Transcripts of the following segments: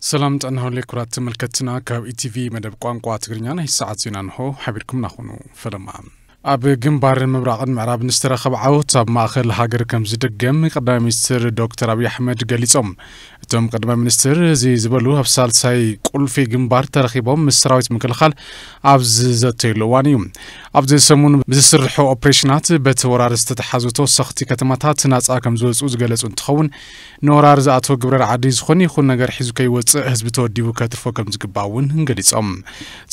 ሰላም ጥዕና ይሃበለይ ክቡራት ተመልከትትና፣ ካብ ኢቲቪ መደብ ቋንቋ ትግርኛ ናይ ሰዓት ዜና እንሆ ሓቢርኩምና ኩኑ። ፈለማ። ኣብ ግንባር ምብራቕን ምዕራብን ዝተረኸበ ዓወት ኣብ ማእኸል ሃገር ከም ዝድገም ቀዳማይ ሚኒስትር ዶክተር ኣብይ ኣሕመድ ገሊጾም። እቶም ቀዳማይ ሚኒስትር እዚ ዝበሉ ኣብ ሳልሳይ ቁልፊ ግንባር ተረኺቦም ምስ ሰራዊት ምክልኻል ኣብ ዝዘተየሉ እዋን እዩ። ኣብዚ ሰሙን ብዝስርሑ ኦፕሬሽናት በቲ ወራር ዝተተሓዙ ተወሰኽቲ ከተማታት ናጻ ከም ዝወፁ ዝገለጹ እንትኸውን፣ ንወራር ዝኣተወ ግብረ ረዓዲ ዝኾነ ይኹን ነገር ሒዙ ከይወፅእ ህዝቢ ተወዲቡ ከትርፎ ከም ዝግባእ እውን ገሊጾም።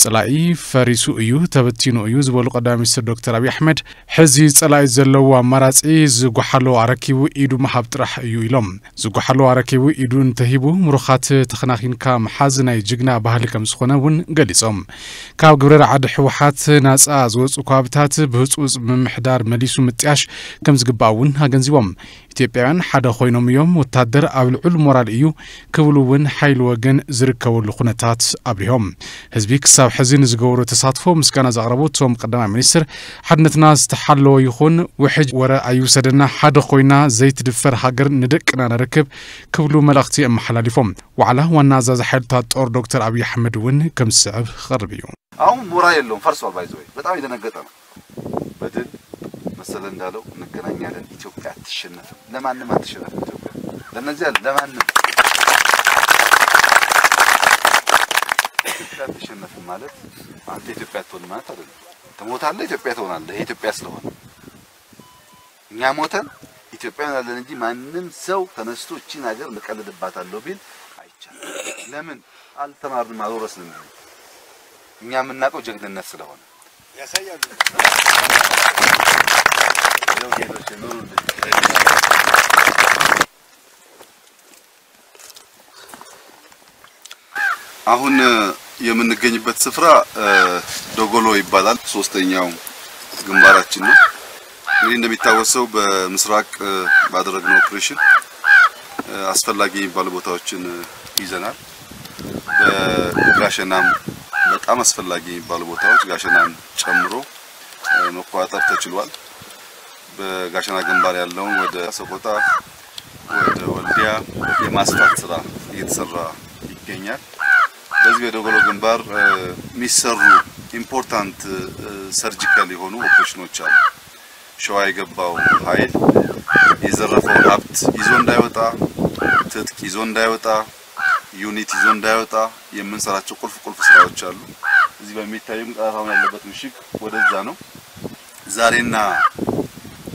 ጸላኢ ፈሪሱ እዩ፣ ተበቲኑ እዩ ዝበሉ ቀዳማይ ሚኒስትር ዶክተር ኣብይ ኣሕመድ፣ ሕዚ ጸላኢ ዘለዎ ኣማራጺ ዝጓሓሎ ኣረኪቡ ኢዱ ምሃብ ጥራሕ እዩ ኢሎም። ዝጓሓሎ ኣረኪቡ ኢዱ እንተሂቡ ምሩኻት ተኸናኺንካ ምሓዝ ናይ ጅግና ባህሊ ከም ዝኾነ እውን ገሊጾም። ካብ ግብረ ረዓዲ ህወሓት ናጻ ዝወፁ ከባብታት ብህፁፅ ምምሕዳር መሊሱ ምጥያሽ ከም ዝግባእ እውን ኣገንዚቦም። ኢትዮጵያውያን ሓደ ኮይኖም እዮም፣ ወታደር ኣብ ልዑል ሞራል እዩ ክብሉ እውን ሓይሊ ወገን ዝርከበሉ ኩነታት ኣብሪሆም። ህዝቢ ክሳብ ሕዚ ንዝገበሮ ተሳትፎ ምስጋና ዘቕረቡ እቶም ቀዳማይ ሚኒስትር፣ ሓድነትና ዝተሓለወ ይኹን፣ ውሕጅ ወረ ኣይውሰደና፣ ሓደ ኮይና ዘይትድፈር ሃገር ንደቅና ነርክብ ክብሉ መልእኽቲ ኣመሓላሊፎም። ዋዕላ ዋና ኣዛዚ ሓይልታት ጦር ዶክተር ኣብይ ኣሕመድ እውን ከም ዝስዕብ ክቐርብ እዩ። አሁን ሞራል የለውም፣ ፈርሷል። ባይዘወይ በጣም የደነገጠ ነው። በድል መሰለ እንዳለው እንገናኛለን። ኢትዮጵያ አትሸነፍም፣ ለማንም አትሸነፍም። ኢትዮጵያ ለነዚያ ለማንም ኢትዮጵያ አትሸነፍም ማለት አንተ ኢትዮጵያ አትሆንም ማለት አይደለም። ትሞታለህ፣ ኢትዮጵያ ትሆናለህ። ይሄ ኢትዮጵያ ስለሆነ እኛ ሞተን ኢትዮጵያ እንሆናለን እንጂ ማንም ሰው ተነስቶ እቺን ሀገር እቀልድባታለሁ ቢል አይቻልም። ለምን አልተማርንም፣ አልወረስንም። እኛ የምናውቀው ጀግንነት ስለሆነ ያሳያሉ። አሁን የምንገኝበት ስፍራ ዶጎሎ ይባላል። ሶስተኛው ግንባራችን ነው። እንግዲህ እንደሚታወሰው በምስራቅ ባደረግነው ኦፕሬሽን አስፈላጊ የሚባሉ ቦታዎችን ይዘናል። በጋሸናም በጣም አስፈላጊ የሚባሉ ቦታዎች ጋሸናን ጨምሮ መቆጣጠር ተችሏል። በጋሸና ግንባር ያለውን ወደ ሰቆጣ፣ ወደ ወልዲያ የማስፋት ስራ እየተሰራ ይገኛል። በዚህ በዶጎሎ ግንባር የሚሰሩ ኢምፖርታንት ሰርጂካል የሆኑ ኦፕሬሽኖች አሉ። ሸዋ የገባው ኃይል የዘረፈውን ሀብት ይዞ እንዳይወጣ፣ ትጥቅ ይዞ እንዳይወጣ፣ ዩኒት ይዞ እንዳይወጣ የምንሰራቸው ቁልፍ ቁልፍ ስራዎች አሉ። እዚህ በሚታየው ጠላት አሁን ያለበት ምሽግ ወደዛ ነው። ዛሬና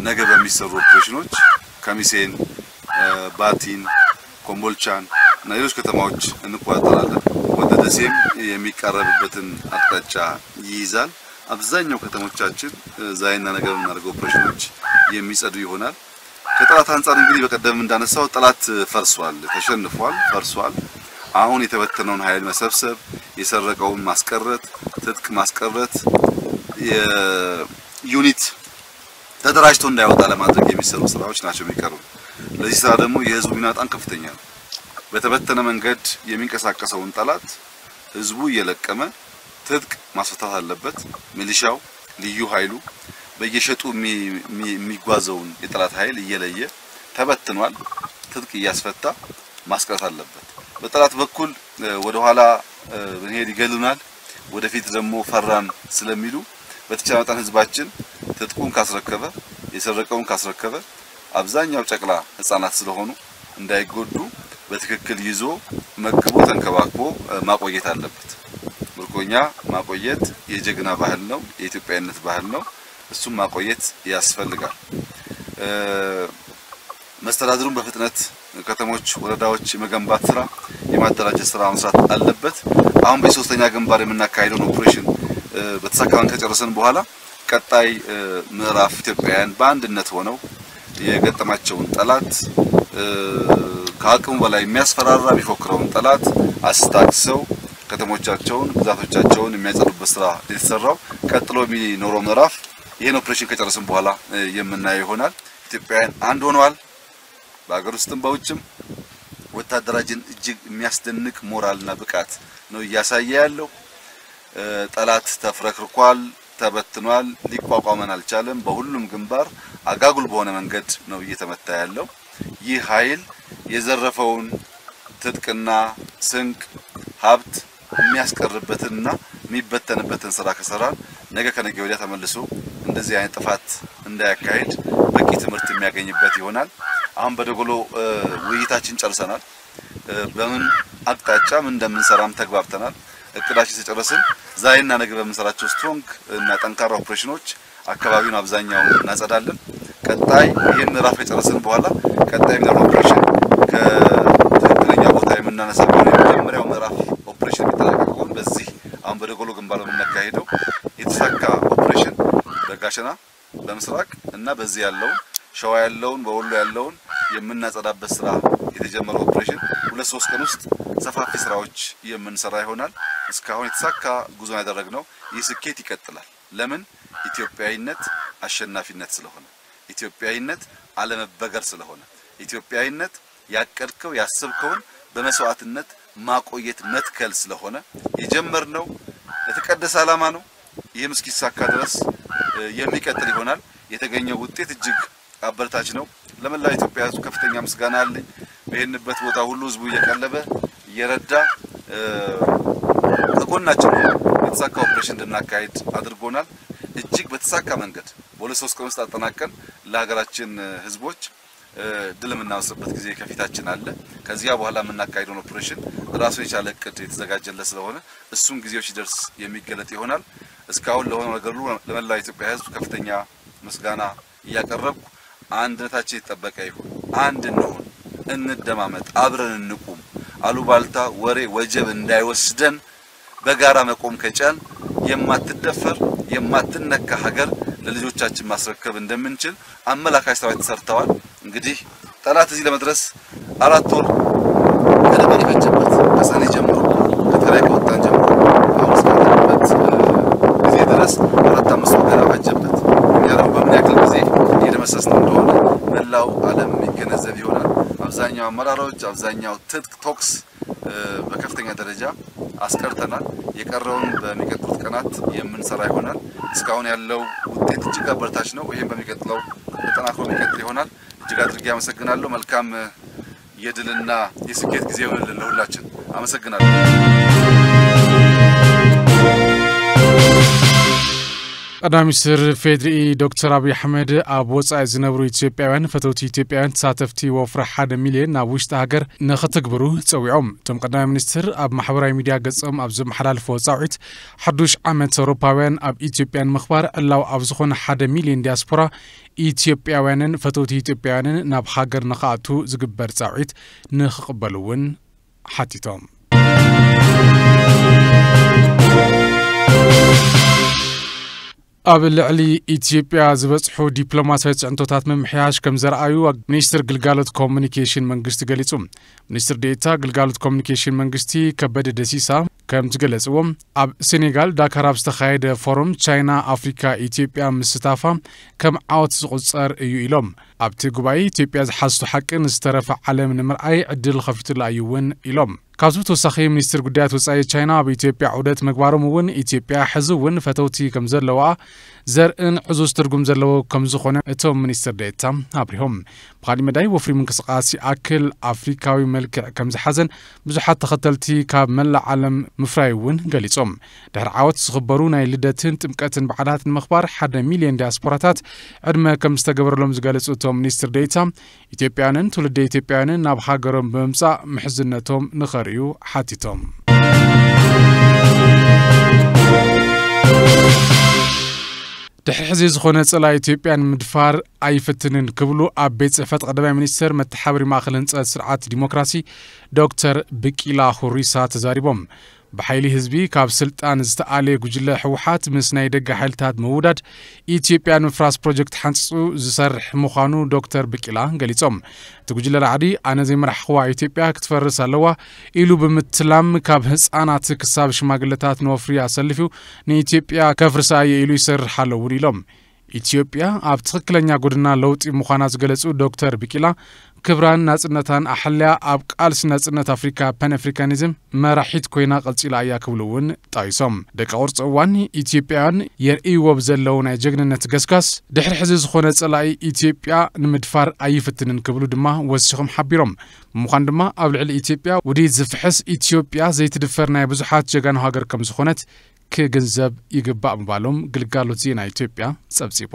ነገ በሚሰሩ ኦፕሬሽኖች ከሚሴን፣ ባቲን፣ ኮምቦልቻን እና ሌሎች ከተማዎች እንቆጣጠራለን። ወደ ደሴም የሚቃረብበትን አቅጣጫ ይይዛል። አብዛኛው ከተሞቻችን ዛሬና ነገ በምናደርገው ኦፕሬሽኖች የሚጸዱ ይሆናል። ከጠላት አንጻር እንግዲህ በቀደም እንዳነሳው ጠላት ፈርሷል፣ ተሸንፏል፣ ፈርሷል። አሁን የተበተነውን ኃይል መሰብሰብ፣ የሰረቀውን ማስቀረት፣ ትጥቅ ማስቀረት፣ የዩኒት ተደራጅቶ እንዳይወጣ ለማድረግ የሚሰሩ ስራዎች ናቸው የሚቀሩ። ለዚህ ስራ ደግሞ የህዝቡ ሚና በጣም ከፍተኛ ነው። በተበተነ መንገድ የሚንቀሳቀሰውን ጠላት ህዝቡ እየለቀመ ትጥቅ ማስፈታት አለበት። ሚሊሻው፣ ልዩ ኃይሉ በየሸጡ የሚጓዘውን የጠላት ኃይል እየለየ ተበትኗል። ትጥቅ እያስፈታ ማስቀረት አለበት። በጠላት በኩል ወደኋላ ብንሄድ ይገሉናል፣ ወደፊት ደግሞ ፈራን ስለሚሉ በተቻለ መጠን ህዝባችን ትጥቁን ካስረከበ፣ የሰረቀውን ካስረከበ፣ አብዛኛው ጨቅላ ህጻናት ስለሆኑ እንዳይጎዱ በትክክል ይዞ መግቦ ተንከባክቦ ማቆየት አለበት። ምርኮኛ ማቆየት የጀግና ባህል ነው፣ የኢትዮጵያዊነት ባህል ነው። እሱም ማቆየት ያስፈልጋል። መስተዳድሩም በፍጥነት ከተሞች፣ ወረዳዎች የመገንባት ስራ፣ የማደራጀት ስራ መስራት አለበት። አሁን በሶስተኛ ግንባር የምናካሄደውን ኦፕሬሽን በተሳካ መንገድ ከጨረሰን በኋላ ቀጣይ ምዕራፍ ኢትዮጵያውያን በአንድነት ሆነው የገጠማቸውን ጠላት፣ ከአቅሙ በላይ የሚያስፈራራ የሚፎክረውን ጠላት አስታግሰው ከተሞቻቸውን፣ ግዛቶቻቸውን የሚያጸዱበት ስራ የተሰራው። ቀጥሎ የሚኖረው ምዕራፍ ይህን ኦፕሬሽን ከጨረስን በኋላ የምናየው ይሆናል። ኢትዮጵያውያን አንድ ሆነዋል። በሀገር ውስጥም በውጭም ወታደራችን እጅግ የሚያስደንቅ ሞራልና ብቃት ነው እያሳየ ያለው። ጠላት ተፍረክርኳል፣ ተበትኗል፣ ሊቋቋመን አልቻለም። በሁሉም ግንባር አጋጉል በሆነ መንገድ ነው እየተመታ ያለው። ይህ ኃይል የዘረፈውን ትጥቅና ስንቅ፣ ሀብት የሚያስቀርበትንና የሚበተንበትን ስራ ከሰራን ነገ ከነገ ወዲያ ተመልሶ እንደዚህ አይነት ጥፋት እንዳያካሄድ በቂ ትምህርት የሚያገኝበት ይሆናል። አሁን በደጎሎ ውይይታችን ጨርሰናል። በምን አቅጣጫ ምን እንደምንሰራም ተግባብተናል። እቅዳችን ተጨረስን ዛሬና ነገ በምንሰራቸው ስትሮንግ እና ጠንካራ ኦፕሬሽኖች አካባቢውን አብዛኛውን እናጸዳለን። ቀጣይ ይህን ምዕራፍ ከጨረስን በኋላ ቀጣይ የሚኖር ኦፕሬሽን ከትክክለኛ ቦታ የምናነሳ ከሆነ የመጀመሪያው ምዕራፍ ኦፕሬሽን የሚጠናቀቅ ከሆነ በዚህ አሁን በደጎሎ ግንባር በምናካሄደው የተሳካ ኦፕሬሽን በጋሸና በምስራቅ እና በዚህ ያለውን ሸዋ ያለውን በወሎ ያለውን የምናጸዳበት ስራ የተጀመረው ኦፕሬሽን ሁለት ሶስት ቀን ውስጥ ሰፋፊ ስራዎች የምንሰራ ይሆናል። እስካሁን የተሳካ ጉዞ ያደረግነው ይህ ስኬት ይቀጥላል። ለምን? ኢትዮጵያዊነት አሸናፊነት ስለሆነ፣ ኢትዮጵያዊነት አለመበገር ስለሆነ፣ ኢትዮጵያዊነት ያቀድከው ያሰብከውን በመስዋዕትነት ማቆየት መትከል ስለሆነ የጀመርነው የተቀደሰ ዓላማ ነው። ይህም እስኪሳካ ድረስ የሚቀጥል ይሆናል። የተገኘው ውጤት እጅግ አበረታች ነው። ለመላው ኢትዮጵያ ህዝብ ከፍተኛ ምስጋና አለኝ። በሄድንበት ቦታ ሁሉ ህዝቡ እየቀለበ እየረዳ ከጎናችን የተሳካ ኦፕሬሽን እንድናካሄድ አድርጎናል። እጅግ በተሳካ መንገድ በሁለት ሶስት ቀን ውስጥ አጠናቀን ለሀገራችን ህዝቦች ድል የምናወስድበት ጊዜ ከፊታችን አለ። ከዚያ በኋላ የምናካሄደውን ኦፕሬሽን ራሱን የቻለ እቅድ የተዘጋጀለት ስለሆነ እሱም ጊዜው ሲደርስ የሚገለጥ ይሆናል። እስካሁን ለሆነው ነገር ሁሉ ለመላው የኢትዮጵያ ህዝብ ከፍተኛ ምስጋና እያቀረብኩ አንድነታችን የተጠበቀ ይሁን። አንድ እንሁን፣ እንደማመጥ፣ አብረን እንቁም። አሉባልታ፣ ወሬ፣ ወጀብ እንዳይወስደን በጋራ መቆም ከቻል የማትደፈር የማትነካ ሀገር ለልጆቻችን ማስረከብ እንደምንችል አመላካች ስራዎች ተሰርተዋል። እንግዲህ ጠላት እዚህ ለመድረስ አራት ወር ከደባሪ ፈጀበት። ከሰኔ ጀምሮ ከትግራይ ከወጣን ጀምሮ አሁን እስካለንበት ጊዜ ድረስ አራት አምስት ወር ገና ፈጀበት። እኛ ደግሞ በምን ያክል ጊዜ እየደመሰስን እንደሆነ መላው ዓለም የሚገነዘብ ይሆናል። አብዛኛው አመራሮች፣ አብዛኛው ትጥቅ ቶክስ በከፍተኛ ደረጃ አስቀርተናል። የቀረውን በሚቀጥሉት ቀናት የምንሰራ ይሆናል። እስካሁን ያለው ውጤት እጅግ አበረታች ነው። ይህም በሚቀጥለው ተጠናክሮ የሚቀጥል ይሆናል። እጅግ አድርጌ አመሰግናለሁ። መልካም የድልና የስኬት ጊዜ ይሆንልን ለሁላችን። አመሰግናለሁ። ቀዳማይ ሚኒስትር ፌዴሪ ዶክተር ኣብይ ኣሕመድ ኣብ ወጻኢ ዝነብሩ ኢትዮጵያውያን ፈተውቲ ኢትዮጵያውያን ተሳተፍቲ ወፍሪ ሓደ ሚልዮን ናብ ውሽጢ ሃገር ንኽትግብሩ ጸዊዖም። እቶም ቀዳማይ ሚኒስትር ኣብ ማሕበራዊ ሚድያ ገጾም ኣብ ዘመሓላልፍዎ ጻውዒት ሓዱሽ ዓመት ኣውሮፓውያን ኣብ ኢትዮጵያ ንምኽባር ዕላዊ ኣብ ዝኾነ ሓደ ሚልዮን ዲያስፖራ ኢትዮጵያውያንን ፈተውቲ ኢትዮጵያውያንን ናብ ሃገር ንኽኣቱ ዝግበር ጻውዒት ንኽቕበሉ እውን ሓቲቶም። ኣብ ልዕሊ ኢትዮጵያ ዝበፅሑ ዲፕሎማሲያዊ ፅዕንቶታት ምምሕያሽ ከም ዘረኣዩ ሚኒስትር ግልጋሎት ኮሙኒኬሽን መንግስቲ ገሊፁ። ሚኒስትር ዴኤታ ግልጋሎት ኮሙኒኬሽን መንግስቲ ከበደ ደሲሳ ከም ዝገለፅዎ፣ ኣብ ሴኔጋል ዳካር ኣብ ዝተኻየደ ፎረም ቻይና ኣፍሪካ ኢትዮጵያ ምስታፋ ከም ዓወት ዝቑፀር እዩ ኢሎም። ኣብቲ ጉባኤ ኢትዮጵያ ዝሓዝቶ ሓቂ ንዝተረፈ ዓለም ንምርኣይ ዕድል ከፊቱላ እዩ እውን ኢሎም። ካብዚ ብተወሳኺ ሚኒስትር ጉዳያት ወፃኢ ቻይና ኣብ ኢትዮጵያ ዑደት ምግባሮም እውን ኢትዮጵያ ሕዚ እውን ፈተውቲ ከም ዘለዋ ዘርእን ዕዙዝ ትርጉም ዘለዎ ከም ዝኾነ እቶም ሚኒስትር ዴኤታ ኣብሪሆም። ብኻሊእ መዳይ ወፍሪ ምንቅስቃስ ይኣክል ኣፍሪካዊ መልክዕ ከም ዝሓዘን ብዙሓት ተኸተልቲ ካብ መላእ ዓለም ምፍራይ እውን ገሊጾም። ድሕሪ ዓወት ዝኽበሩ ናይ ልደትን ጥምቀትን በዓላት ንምኽባር ሓደ ሚልዮን ዲያስፖራታት ዕድመ ከም ዝተገበረሎም ዝገለጹ እቶም ሚኒስትር ዴኤታ ኢትዮጵያውያንን ትውልደ ኢትዮጵያውያንን ናብ ሃገሮም ብምምጻእ ምሕዝነቶም ንኸርእዩ ሓቲቶም። ድሕሪ ሕዚ ዝኾነ ጸላኢ ኢትዮጵያ ንምድፋር ኣይፍትንን ክብሉ ኣብ ቤት ጽሕፈት ቀዳማይ ሚኒስትር መተሓባበሪ ማእኸል ህንጸት ስርዓት ዲሞክራሲ ዶክተር ብቂላ ሁሪሳ ተዛሪቦም። ብሓይሊ ህዝቢ ካብ ስልጣን ዝተኣልየ ጉጅለ ህወሓት ምስ ናይ ደገ ሓይልታት ምውዳድ ኢትዮጵያ ንምፍራስ ፕሮጀክት ሓንፂፁ ዝሰርሕ ምዃኑ ዶክተር ብቂላ ገሊፆም። እቲ ጉጅለ ራዕዲ ኣነ ዘይመራሕኽዋ ኢትዮጵያ ክትፈርስ ኣለዋ ኢሉ ብምትላም ካብ ህፃናት ክሳብ ሽማግለታት ንወፍሪ ኣሰሊፉ ንኢትዮጵያ ከፍርሳ እየ ኢሉ ይሰርሕ ኣሎ እውን ኢሎም። ኢትዮጵያ ኣብ ትኽክለኛ ጎድና ለውጢ ምዃና ዝገለጹ ዶክተር ቢቂላ፣ ክብራን ናጽነታን ኣሕልያ ኣብ ቃልሲ ናጽነት ኣፍሪካ፣ ፓን ኣፍሪካኒዝም፣ መራሒት ኮይና ቀጺላ እያ ክብሉ እውን ጠቒሶም። ደቂ ቅርጺ እዋን ኢትዮጵያውያን የርእይዎ ብዘለዉ ናይ ጀግንነት ገስጋስ፣ ድሕሪ ሕዚ ዝኾነ ጸላኢ ኢትዮጵያ ንምድፋር ኣይፍትንን ክብሉ ድማ ወሲኾም ሓቢሮም። ብምዃኑ ድማ ኣብ ልዕሊ ኢትዮጵያ ውዲት ዝፍሕስ፣ ኢትዮጵያ ዘይትድፈር ናይ ብዙሓት ጀጋኑ ሃገር ከም ዝኾነት ክግንዘብ ይግባእ ምባሎም ግልጋሎት ዜና ኢትዮጵያ ጸብጺቡ።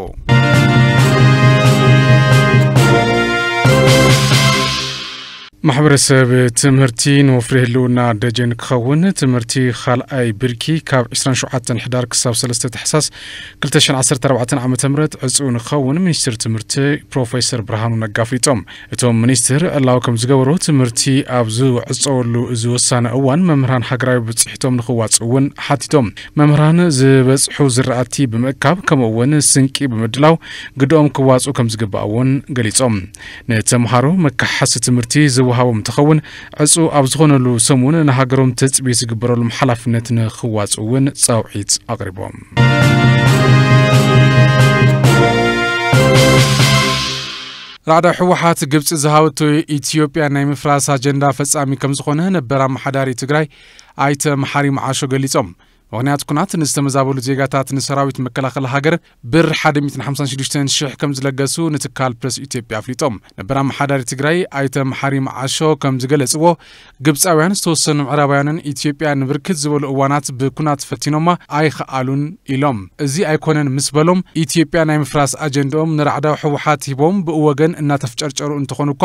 ማሕበረሰብ ትምህርቲ ንወፍሪ ህልውና ደጀን ክኸውን ትምህርቲ ካልኣይ ብርኪ ካብ ዕስራን ሸውዓተን ሕዳር ክሳብ ሰለስተ ታሕሳስ ክልተ ሽሕን ዓሰርተ ኣርባዕተን ዓመተ ምህረት ዕጹው ንክኸውን ሚኒስትር ትምህርቲ ፕሮፌሰር ብርሃኑ ነጋ ኣፍሊጦም። እቶም ሚኒስትር ዕላዊ ከም ዝገበሩ ትምህርቲ ኣብ ዝዕጸወሉ እዚ ወሳነ እዋን መምህራን ሃገራዊ ብጽሒቶም ንክዋጽኡ እውን ሓቲቶም። መምህራን ዝበጽሑ ዝራእቲ ብምእካብ ከምኡ እውን ስንቂ ብምድላው ግድኦም ክዋጽኡ ከም ዝግባእ እውን ገሊጾም። ንተምሃሮ መካሓሲ ትምህርቲ ዝወሃቦም እንትኸውን ዕጹ ኣብ ዝኾነሉ ሰሙን ንሃገሮም ትጽቢት ዝግበረሎም ሓላፍነት ንክዋጽኡ እውን ጻውዒት ኣቕሪቦም። ራዕዳዊ ህወሓት ግብጺ ዝሃበቶ ኢትዮጵያ ናይ ምፍራስ ኣጀንዳ ፈጻሚ ከም ዝኾነ ነበር ኣመሓዳሪ ትግራይ ኣይተ መሓሪ መዓሾ ገሊጾም። ምኽንያት ኩናት ንዝተመዛበሉ ዜጋታት ንሰራዊት መከላኸሊ ሃገር ብር ሓደ ሚእትን ሓምሳን ሽዱሽተን ሽሕ ከም ዝለገሱ ንትካል ፕረስ ኢትዮጵያ ኣፍሊጦም። ነበር ኣመሓዳሪ ትግራይ ኣይተ መሓሪ መዓሾ ከም ዝገለጽዎ፣ ግብጻውያን ዝተወሰኑ ምዕራባውያንን ኢትዮጵያ ንብርክት ዝበሉ እዋናት ብኩናት ፈቲኖማ ኣይኸኣሉን ኢሎም። እዚ ኣይኮነን ምስ በሎም፣ ኢትዮጵያ ናይ ምፍራስ ኣጀንድኦም ንራዕዳዊ ህወሓት ሂቦም ብኡ ወገን እናተፍጨርጨሩ እንተኾኑ እኳ፣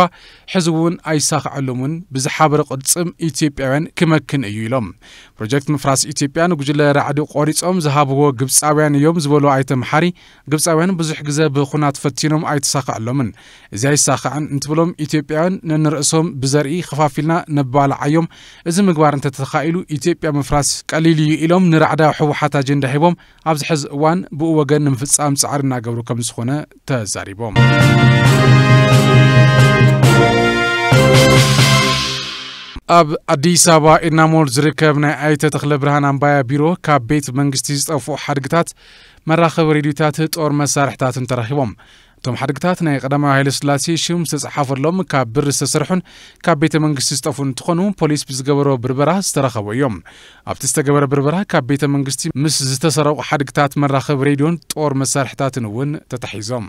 ሕዚ እውን ኣይሳኽዐሎምን፣ ብዝሓበረ ቅልጽም ኢትዮጵያውያን ክመክን እዩ ኢሎም። ፕሮጀክት ምፍራስ ኢትዮጵያ ንጉጅለ ራዕዲ ቆሪጾም ዝሃብዎ ግብጻውያን እዮም ዝበሉ ኣይተ መሓሪ፣ ግብጻውያን ብዙሕ ግዜ ብኹናት ፈቲኖም ኣይተሳኽዐሎምን። እዚ ኣይሳኽዕን እንትብሎም ኢትዮጵያውያን ነንርእሶም ብዘርኢ ከፋፊልና ነባልዓዮም። እዚ ምግባር እንተተኻኢሉ ኢትዮጵያ ምፍራስ ቀሊል እዩ ኢሎም ንራዕዳዊ ህወሓት ኣጀንዳ ሂቦም ኣብዚ ሕዚ እዋን ብኡ ወገን ንምፍጻም ጻዕሪ እናገብሩ ከም ዝኾነ ተዛሪቦም። ኣብ ኣዲስ ኣበባ ኢድናሞል ዝርከብ ናይ ኣይተ ተኽለ ብርሃን ኣምባያ ቢሮ ካብ ቤት መንግስቲ ዝጠፍኡ ሓድግታት፣ መራኸቢ ሬድዮታት፣ ጦር መሳርሕታትን ተረኺቦም። እቶም ሓድግታት ናይ ቀዳማዊ ሃይለ ስላሴ ሽም ዝተጻሓፈሎም ካብ ብር ዝተሰርሑን ካብ ቤተ መንግስቲ ዝጠፍኡ እንትኾኑ ፖሊስ ብዝገበሮ ብርበራ ዝተረኸቡ እዮም። ኣብቲ ዝተገበረ ብርበራ ካብ ቤተ መንግስቲ ምስ ዝተሰረቑ ሓድግታት መራኸቢ ሬድዮን ጦር መሳርሕታትን እውን ተታሒዞም።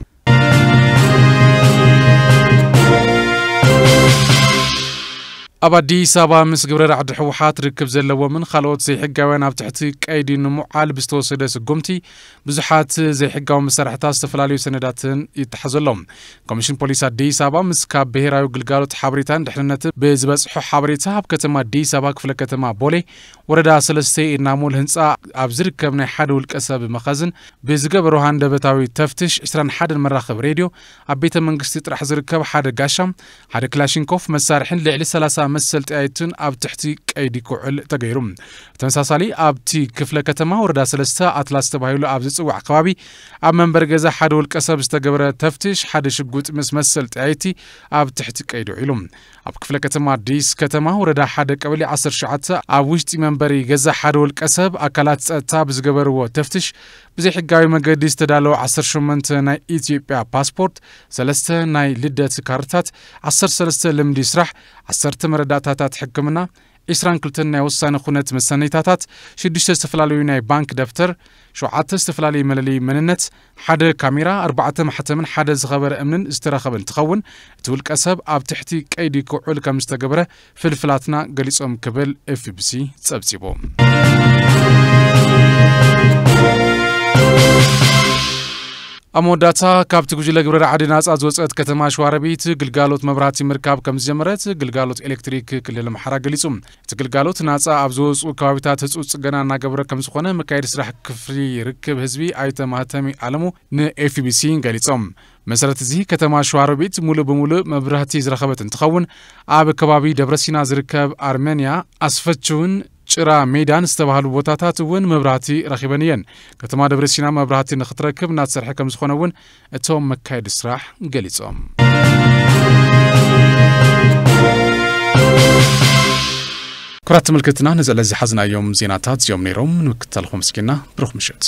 ኣብ ኣዲስ ኣበባ ምስ ግብረ ራዕዲ ህወሓት ርክብ ዘለዎምን ካልኦት ዘይሕጋውያን ኣብ ትሕቲ ቀይዲ ንምውዓል ብዝተወሰደ ስጉምቲ ብዙሓት ዘይሕጋዊ መሳርሕታት ዝተፈላለዩ ሰነዳትን ይተሓዘሎም። ኮሚሽን ፖሊስ ኣዲስ ኣበባ ምስ ካብ ብሄራዊ ግልጋሎት ሓበሬታን ድሕንነትን ብዝበጽሖ ሓበሬታ ኣብ ከተማ ኣዲስ ኣበባ ክፍለ ከተማ ቦሌ ወረዳ ሰለስተ ኢድናሞል ህንፃ ኣብ ዝርከብ ናይ ሓደ ውልቀ ሰብ መኸዝን ብዝገበሮ ሃንደበታዊ ተፍትሽ ዕስራን ሓደን መራኸቢ ሬድዮ፣ ኣብ ቤተ መንግስቲ ጥራሕ ዝርከብ ሓደ ጋሻ፣ ሓደ ክላሽንኮፍ መሳርሕን ልዕሊ ሰላሳ መሰል ጠያይትን ኣብ ትሕቲ ቀይዲ ክውዕል ተገይሩ። ተመሳሳሊ ኣብቲ ክፍለ ከተማ ወረዳ ሰለስተ ኣትላስ ተባሂሉ ኣብ ዝጽዋዕ ከባቢ ኣብ መንበሪ ገዛ ሓደ ውልቀ ሰብ ዝተገበረ ተፍትሽ ሓደ ሽጉጥ ምስ መሰል ጠያይቲ ኣብ ትሕቲ ቀይዲ ውዒሉ። ኣብ ክፍለ ከተማ ኣዲስ ከተማ ወረዳ ሓደ ቀበሌ ዓሰርተ ሸውዓተ ኣብ ውሽጢ መንበሪ ገዛ ሓደ ውልቀ ሰብ ኣካላት ጸጥታ ብዝገበርዎ ተፍትሽ ብዘይሕጋዊ መገዲ ዝተዳለወ ዓሰርተ ሸሞንተ ናይ ኢትዮጵያ ፓስፖርት፣ ሰለስተ ናይ ልደት ካርድታት፣ ዓሰርተ ሰለስተ ልምዲ ስራሕ፣ ዓሰርተ መረዳእታታት ሕክምና፣ ዕስራን ክልተን ናይ ወሳኒ ኩነት መሰነይታታት፣ ሽዱሽተ ዝተፈላለዩ ናይ ባንክ ደብተር፣ ሸውዓተ ዝተፈላለዩ መለለዪ መንነት፣ ሓደ ካሜራ፣ ኣርባዕተ ማሕተምን ሓደ ዝኸበረ እምንን ዝተረኸበ እንትኸውን፣ እቲ ውልቀ ሰብ ኣብ ትሕቲ ቀይዲ ክውዕል ከም ዝተገበረ ፍልፍላትና ገሊጾም ክብል ኤፍቢሲ ጸብጺቡ። ኣብ መወዳእታ፣ ካብቲ ጉጅለ ግብረ ራዕዲ ናጻ ዝወጸት ከተማ ሸዋሮቢት ግልጋሎት መብራህቲ ምርካብ ከም ዝጀመረት ግልጋሎት ኤሌክትሪክ ክልል ኣምሓራ ገሊጹ። እቲ ግልጋሎት ናጻ ኣብ ዝወጹ ከባቢታት ህጹጽ ጽገና እናገበረ ከም ዝኾነ መካየዲ ስራሕ ክፍሊ ርክብ ህዝቢ ኣይተ ማህተሚ ኣለሙ ንኤፍቢሲ ገሊጾም። መሰረት እዚ ከተማ ሸዋሮቢት ሙሉእ ብሙሉእ መብራህቲ ዝረኸበት እንትኸውን፣ ኣብ ከባቢ ደብረሲና ዝርከብ ኣርመንያ፣ ኣስፈችውን ጭራ ሜዳን ዝተባህሉ ቦታታት እውን መብራህቲ ረኺበን እየን። ከተማ ደብረሲና መብራህቲ ንክትረክብ እናተሰርሐ ከም ዝኾነ እውን እቶም መካየዲ ስራሕ ገሊጾም። ክቡራት ተመልከትና፣ ነዚ ዕለት ዝሓዝናዮም ዜናታት እዚኦም ነይሮም። ንምክትታልኩም ኣመስጊና፣ ብሩኽ ምሸት።